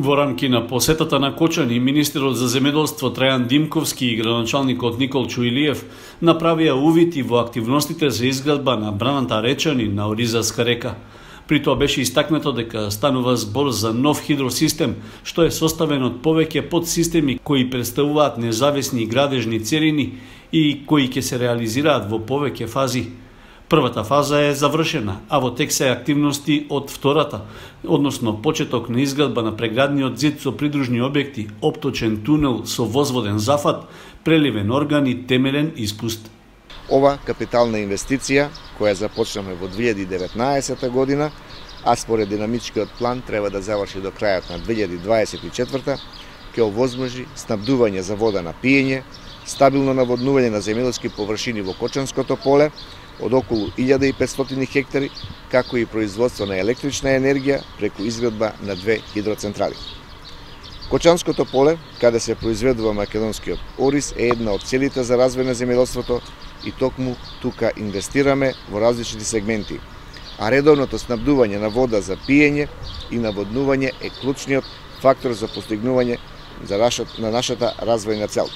Во рамки на посетата на Кочани, министерот за земјоделство Трајан Димковски и градоначалникот Никол Чуилиев направија увид и во активностите за изградба на браната Речани на Оризарска река. При тоа беше истакнато дека станува збор за нов хидросистем, што е составен од повеќе подсистеми кои представуваат независни градежни целини и кои ќе се реализираат во повеќе фази. Првата фаза е завршена, а во тек се активности од втората, односно почеток на изградба на преградниот зид со придружни објекти, опточен тунел со возводен зафат, преливен орган и темелен испуст. Ова капитална инвестиција, која започнаме во 2019 година, а според динамичкиот план треба да заврши до крајот на 2024, ќе овозможи снабдување за вода на пиење, стабилно наводнување на земјоделски површини во Кочанското поле, од околу 1500 хектари, како и производство на електрична енергија преку изградба на 2 хидроцентрали. Кочанското поле, каде се произведува македонскиот ориз, е една од целите за развој на земјоделството и токму тука инвестираме во различни сегменти. А редовното снабдување на вода за пиење и наводнување е клучниот фактор за постигнување на нашата развојна цел.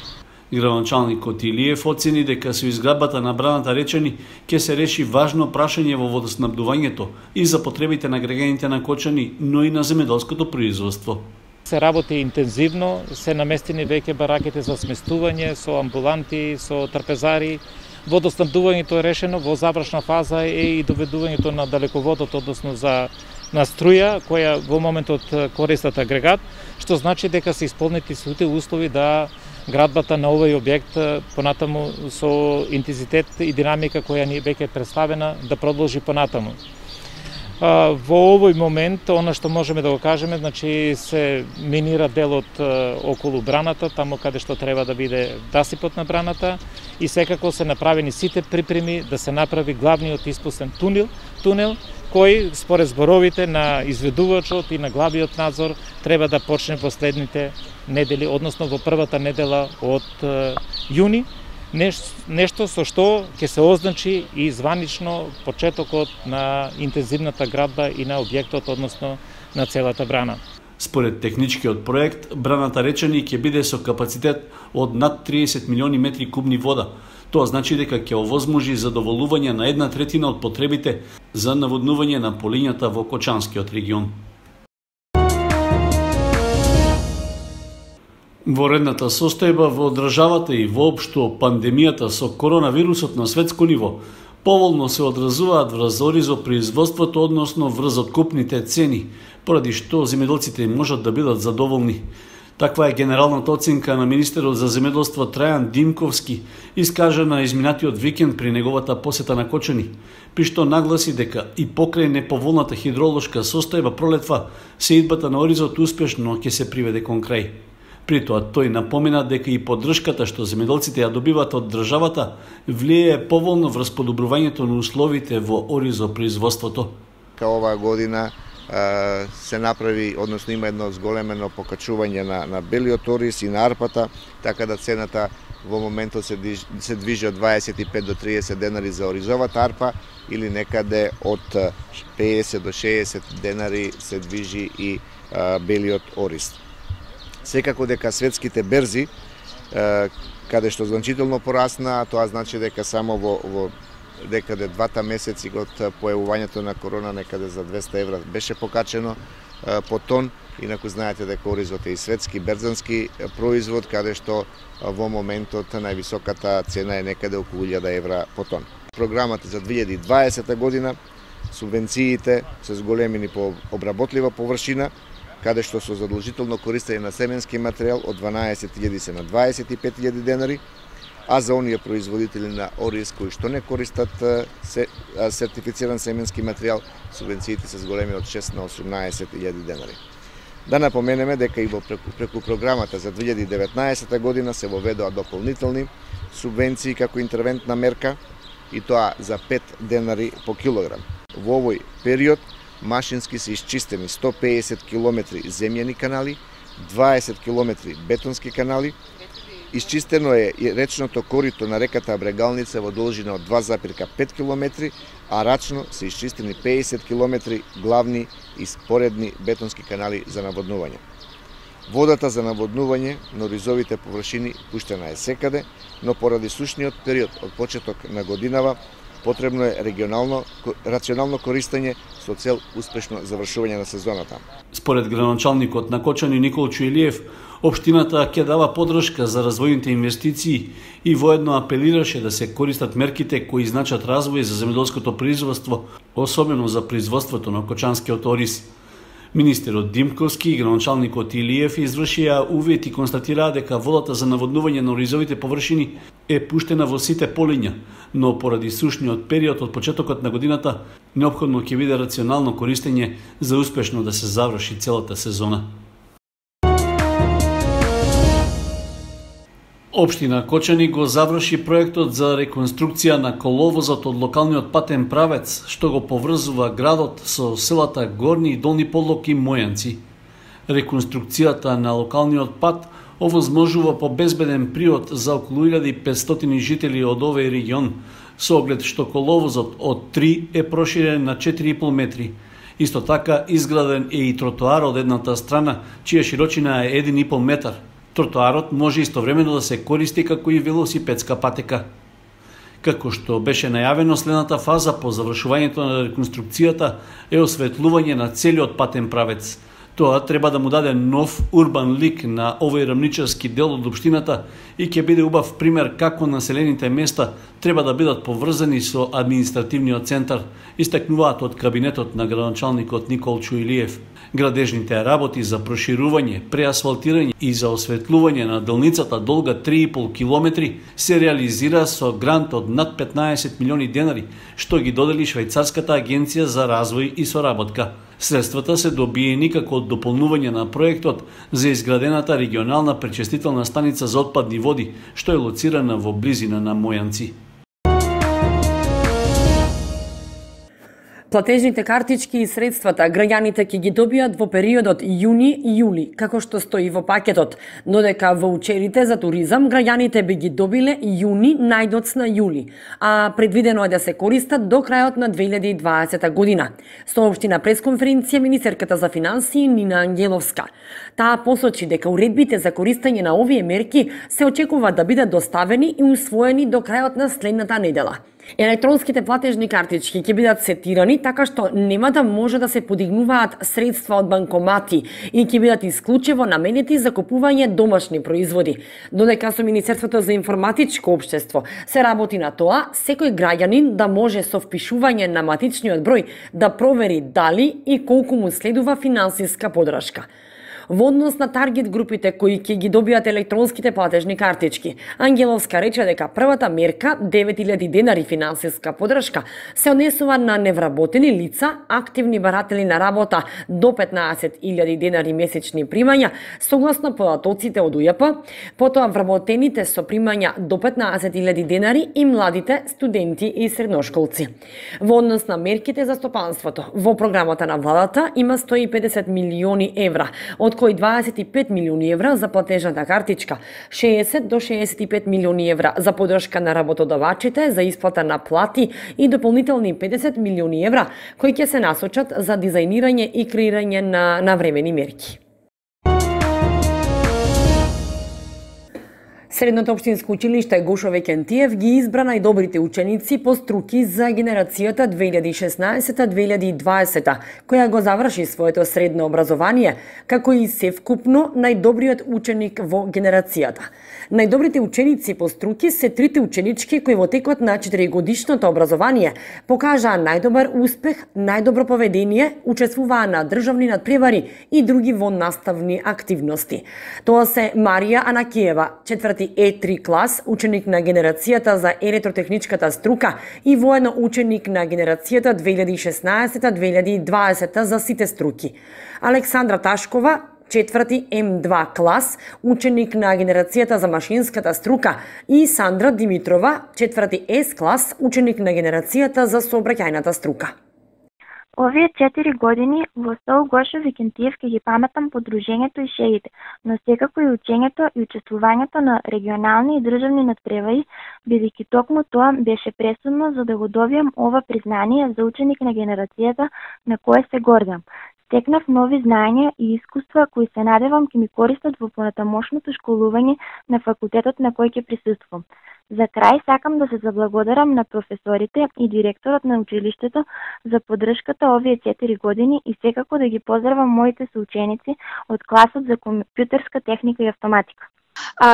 Градоначалникот Илиев оцени дека со изградбата на браната Речани ќе се реши важно прашање во водоснабдувањето и за потребите на граѓаните на Кочани, но и на земјоделското производство. Се работи интензивно, се наместени веќе бараките за сместување со амбуланти, со трпезари. Водоснабдувањето е решено, во завршна фаза е и доведувањето на далеководот, односно на струја, која во моментот користат агрегат, што значи дека се исполнети сите услови да градбата на овој објект понатаму со интензитет и динамика која ни веќе е представена да продолжи понатаму. Во овој момент, она што можеме да го кажеме, значи се минира делот околу браната, таму каде што треба да биде насипот на браната и секако се направени сите припреми да се направи главниот испустен тунел, кој според зборовите на изведувачот и на главниот надзор треба да почне во следните недели, односно во првата недела од јуни, нешто со што ќе се означи и званично почетокот на интензивната градба и на објектот, односно на целата брана. Според техничкиот проект, браната Речани ќе биде со капацитет од над 30 милиони метри кубни вода. Тоа значи дека ќе овозможи задоволување на 1/3 од потребите за наводнување на полињата во Кочанскиот регион. Во редната состојба во државата и воопшто пандемијата со коронавирусот на светско ниво поволно се одразуваат врз оризопроизводството, односно врз откупните цени, поради што земјоделците можат да бидат задоволни. Таква е генералната оценка на министерот за земјоделство Трајан Димковски, искажана изминатиот викенд при неговата посета на Кочани, при што нагласи дека и покрај неповолната хидролошка состојба пролетва, сеидбата на оризот успешно ќе се приведе кон крај. При тоа тој напомена дека и поддршката што земјоделците ја добиваат од државата влијае поволно врз подобрувањето на условите во оризопроизводството. Оваа година се направи, односно има едно зголемено покачување на белиот ориз и на арпата, така да цената во моментот се движи од 25 до 30 денари за оризовата арпа или некаде од 50 до 60 денари се движи и белиот ориз. Секако дека светските берзи, каде што значително порасна, тоа значи дека само во декаде 2 месеци од појавувањето на корона некаде за 200 евра беше покачено по тон, инаку знаете дека оризот е и светски берзански производ, каде што во моментот највисоката цена е некаде околу 1000 евра по тон. Програмата за 2020 година, субвенциите се зголемени по обработлива површина, каде што со задолжително користење на семенски материјал од 12.000 се на 25.000 денари, а за оние производители на ориз кои што не користат сертифициран семенски материјал, субвенциите се зголеми од 6 на 18.000 денари. Да напоменеме дека и преку програмата за 2019 година се воведоа дополнителни субвенции како интервентна мерка, и тоа за 5 денари по килограм. Во овој период машински се исчистени 150 километри земјани канали, 20 километри бетонски канали Исчистено е и речното корито на реката Брегалница во должина од 2,5 км, а рачно се исчистени 50 км главни и споредни бетонски канали за наводнување. Водата за наводнување на оризовите површини пуштена е секаде, но поради сушниот период од почеток на годинава потребно е рационално користење со цел успешно завршување на сезоната. Според градоначалникот на Кочани Никол Чуелиев, општината ќе дава поддршка за развојните инвестиции и воедно апелираше да се користат мерките кои значат развој за земјоделското производство, особено за производството на кочанскиот ориз. Министерот Димковски и градоначалникот Илиев извршија увид и констатираа дека водата за наводнување на оризовите површини е пуштена во сите полиња, но поради сушниот период од почетокот на годината неопходно ќе биде рационално користење за успешно да се заврши целата сезона. Општина Кочани го заврши проектот за реконструкција на коловозот од локалниот патен правец, што го поврзува градот со селата Горни и Долни Подлог и Мојанци. Реконструкцијата на локалниот пат овозможува побезбеден приот за околу 1500 жители од овој регион, со оглед што коловозот од 3 е проширен на 4,5 метри. Исто така изграден е и тротоар од едната страна, чија широчина е 1,5 метар. Тротоарот може истовремено да се користи како и велосипедска патека. Како што беше најавено, следната фаза по завршувањето на реконструкцијата е осветлување на целиот патен правец. Тоа треба да му даде нов урбан лик на овој рамничарски дел од општината и ќе биде убав пример како населените места треба да бидат поврзани со административниот центар, истакнуваат од кабинетот на градоначалникот Никол Чуелиев. Градежните работи за проширување, преасфалтирање и за осветлување на делницата долга 3,5 км се реализира со грант од над 15 милиони денари, што ги додели Швајцарската агенција за развој и соработка. Средствата се добиени како дополнување на проектот за изградената регионална пречистителна станица за отпадни води, што е лоцирана во близина на Мојанци. Платежните картички и средствата граѓаните ќе ги добијат во периодот јуни-јули, како што стои во пакетот, но дека ваучерите за туризам граѓаните би ги добиле јуни најдоцна јули, а предвидено е да се користат до крајот на 2020 година. Соопшти на пресконференција министерката за финансии Нина Ангеловска. Таа посочи дека уредбите за користење на овие мерки се очекува да бидат доставени и усвоени до крајот на следната недела. Електронските платежни картички ќе бидат сетирани така што нема да може да се подигнуваат средства од банкомати и ќе бидат исклучиво наменети за купување домашни производи. Додека со Министерството за информатичко општество се работи на тоа секој граѓанин да може со впишување на матичниот број да провери дали и колку му следува финансиска поддршка. Во однос на таргет групите кои ќе ги добијат електронските платежни картички, Ангеловска рече дека првата мерка, 9000 денари финансиска поддршка, се однесува на невработени лица, активни баратели на работа до 15.000 денари месечни примања, согласно податоците од УЈП, потоа вработените со примања до 15.000 денари и младите студенти и средношколци. Во однос на мерките за стопанството, во програмата на владата има 150 милиони евра, од кои 25 милиони евра за платежната картичка, 60 до 65 милиони евра за поддршка на работодавачите за исплата на плати и дополнителни 50 милиони евра кои ќе се насочат за дизајнирање и креирање на навремени мерки. Средното општинско училиште Гошо Векентиев ги избра најдобрите ученици по струки за генерацијата 2016-2020, која го заврши своето средно образование, како и севкупно најдобриот ученик во генерацијата. Најдобрите ученици по струки се трите ученички кои во текот на 4-годишното образование покажаа најдобар успех, најдобро поведение, учествуваа на државни надпревари и други во наставни активности. Тоа се Марија Анакиева, 4 E3 клас, ученик на генерацијата за електротехничката струка и воедно ученик на генерацијата 2016-2020 за сите струки. Александра Ташкова, 4 М2 клас, ученик на генерацијата за машинската струка и Сандра Димитрова, 4 С клас, ученик на генерацијата за сообраќајната струка. Овие 4 години во СОУ Гошо Викентиев ќе ги паметам подружењето и шеите, но секако и учењето и учествувањето на регионални и државни надпревари, бидејќи токму тоа беше пресудно за да го добијам ова признание за ученик на генерацијата на кое се гордам. Стекнав нови знаења и искуства кои се надевам ќе ми користат во понатамошното школување на факултетот на кој ќе присуствувам. За крај сакам да се заблагодарам на професорите и директорот на училиштето за поддршката овие 4 години и секако да ги поздравам моите соученици од класот за компјутерска техника и автоматика.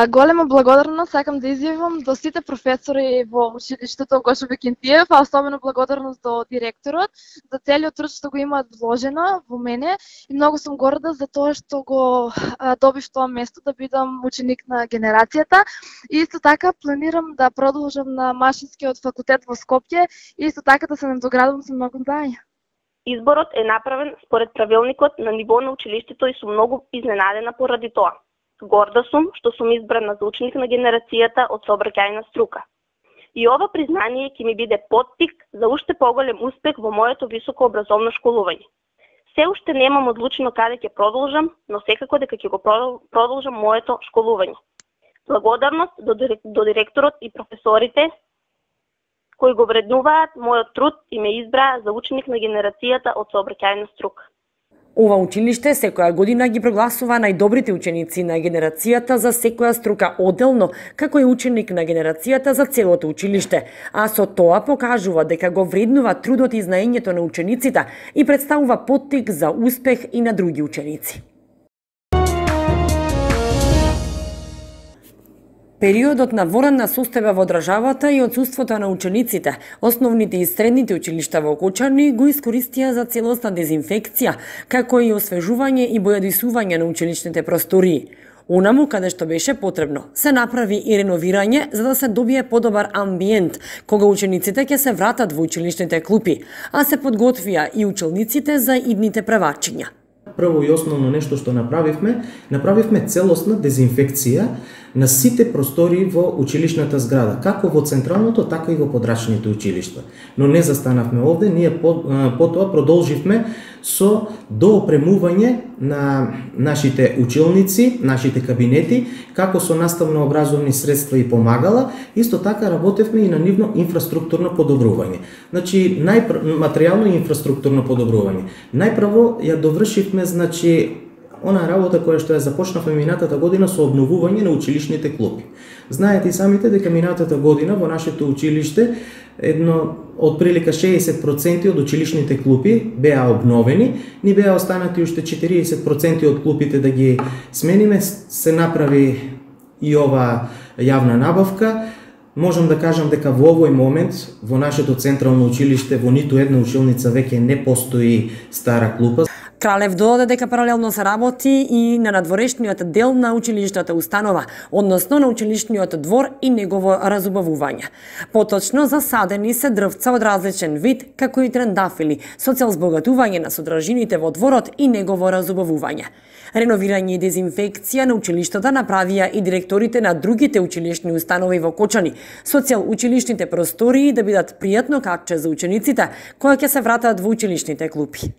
Голема благодарност сакам да изјавам до сите професори во училиштето Гошо Викентиев, а особено благодарност до директорот за целиот труд што го имаат вложено во мене и многу сум горда за тоа што го добив тоа место да бидам ученик на генерацијата. И исто така планирам да продолжам на Машинскиот факултет во Скопје и исто така да се надоградувам со многу знаења. Изборот е направен според правилникот на ниво на училиштето и сум многу изненадена поради тоа. Горда сум што сум избрана за ученик на генерацијата од сообраќајна струка. И ова признание ќе ми биде поттик за уште поголем успех во моето високообразовно школување. Се уште немам одлучено каде ќе продолжам, но секако дека ќе го продолжам моето школување. Благодарност до директорот и професорите кои го вреднуваат мојот труд и ме избраа за ученик на генерацијата од сообраќајна струка. Ова училиште секоја година ги прогласува најдобрите ученици на генерацијата за секоја струка одделно, како и ученик на генерацијата за целото училиште, а со тоа покажува дека го вреднува трудот и знаењето на учениците и представува поттик за успех и на други ученици. Периодот на воранна состојба во државата и отсуството на учениците, основните и средните училишта во Кочани го искористија за целосна дезинфекција, како и освежување и бојадисување на училишните простории. Унаму каде што беше потребно, се направи и реновирање за да се добие подобар амбиент, кога учениците ќе се вратат во училишните клупи, а се подготвија и училниците за идните преварчиња. Прво и основно нешто што направивме целосна дезинфекција на сите простории во училишната зграда, како во централното, така и во подрачните училишта. Но не застанавме овде, ние потоа продолживме со доопремување на нашите училници, нашите кабинети, како со наставно-образовни средства и помагала, исто така работевме и на нивно инфраструктурно подобрување. Значи, материјално и инфраструктурно подобрување. Најпрво ја довршивме, она работа која што ја започнавме минатата година со обновување на училишните клупи. Знаете и самите дека минатата година во нашето училиште од прилика 60% од училишните клупи беа обновени, ни беа останати уште 40% од клупите да ги смениме, се направи и ова јавна набавка. Можам да кажам дека во овој момент во нашето централно училиште во ниту една училница веќе не постои стара клупа. Кралев додаде дека паралелно се работи и на надворешниот дел на училишната установа, односно на училишниот двор и негово разубавување. Поточно засадени се дрвца од различен вид, како и трендафили, со цел збогатување на содржините во дворот и негово разубавување. Реновирање и дезинфекција на училиштата направија и директорите на другите училишни установи во Кочани, со цел училишните простории да бидат пријатно каче за учениците кои ќе се вратат во училишните клупи.